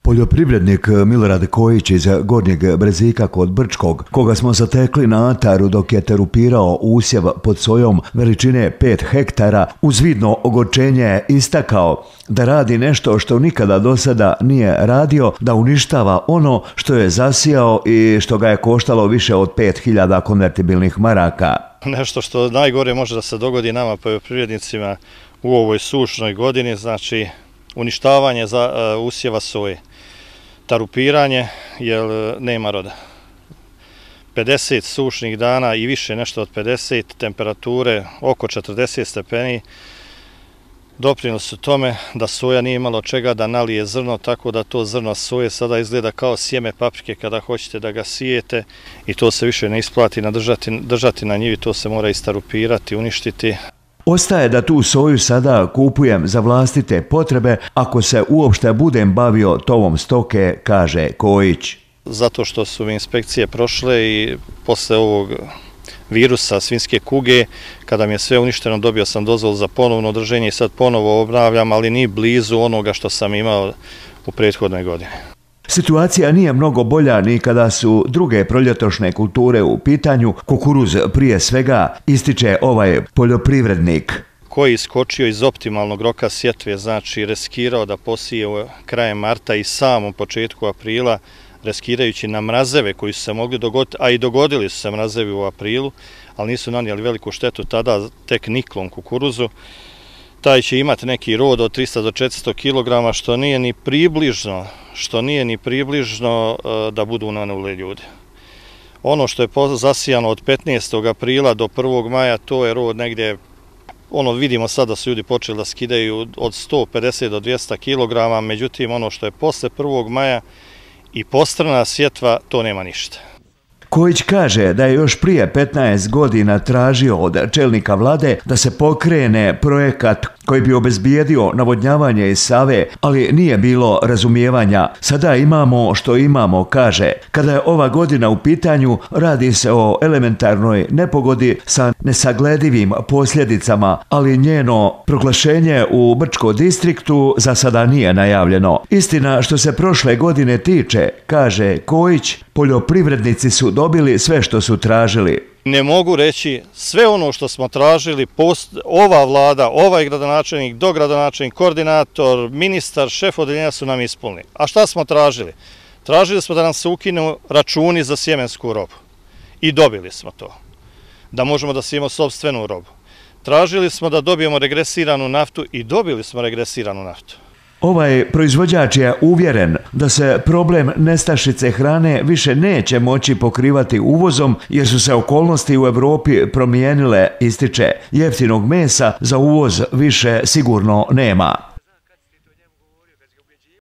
Poljoprivrednik Milorad Kojić iz Gornjeg Brezika kod Brčkog, koga smo zatekli na ataru dok je terupirao usjev pod sojom veličine 5 hektara, uz vidno ogorčenje je istakao da radi nešto što nikada do sada nije radio, da uništava ono što je zasijao i što ga je koštalo više od 5000 konvertibilnih maraka. Nešto što najgore može da se dogodi nama poljoprivrednicima u ovoj sušnoj godini, znači uništavanje usjeva soje, tarupiranje, jer nema roda. 50 sušnih dana i više, nešto od 50, temperature oko 40 stepeni, doprinijeli su tome da soja nije imalo čega da nalije zrno, tako da to zrno soje sada izgleda kao sjeme paprike kada hoćete da ga sijete i to se više ne isplati držati na njivi, to se mora istarupirati, uništiti. Ostaje da tu soju sada kupujem za vlastite potrebe ako se uopšte budem bavio tovom stoke, kaže Kojić. Zato što su mi inspekcije prošle i posle ovog virusa svinjske kuge, kada mi je sve uništeno, dobio sam dozvolu za ponovno drženje i sad ponovo obnavljam, ali ni blizu onoga što sam imao u prethodnoj godini. Situacija nije mnogo bolja ni kada su druge proljetošne kulture u pitanju, kukuruz prije svega, ističe ovaj poljoprivrednik. Koji je iskočio iz optimalnog roka sjetve, znači reskirao da posije krajem marta i samom početku aprila, reskirajući na mrazeve koji su se mogli dogoditi, a i dogodili su se mrazevi u aprilu, ali nisu nanijeli veliku štetu tada tek niklom kukuruzu. Taj će imati neki rod od 300 do 400 kg, što nije ni približno da budu unanuli ljudi. Ono što je zasijano od 15. aprila do 1. maja, to je rod negdje, vidimo sad da su ljudi počeli da skidaju od 150 do 200 kg, međutim ono što je posle 1. maja i postrana sjetva, to nema ništa. Kojić kaže da je još prije 15 godina tražio od čelnika vlade da se pokrene projekat koji bi obezbijedio navodnjavanje iz Save, ali nije bilo razumijevanja. Sada imamo što imamo, kaže. Kada je ova godina u pitanju, radi se o elementarnoj nepogodi sa nesagledivim posljedicama, ali njeno proglašenje u Brčkom distriktu za sada nije najavljeno. Istina, što se prošle godine tiče, kaže Kojić, poljoprivrednici su dobili sve što su tražili. Ne mogu reći sve ono što smo tražili, ova vlada, ovaj gradonačelnik, dogradonačelnik, koordinator, ministar, šef odeljenja su nam ispunili. A šta smo tražili? Tražili smo da nam se ukinu računi za sjemensku robu. I dobili smo to. Da možemo da sijemo sopstvenu robu. Tražili smo da dobijemo regresiranu naftu i dobili smo regresiranu naftu. Ovaj proizvođač je uvjeren da se problem nestašice hrane više neće moći pokrivati uvozom jer su se okolnosti u Evropi promijenile, ističe. Jeftinog mesa za uvoz više sigurno nema.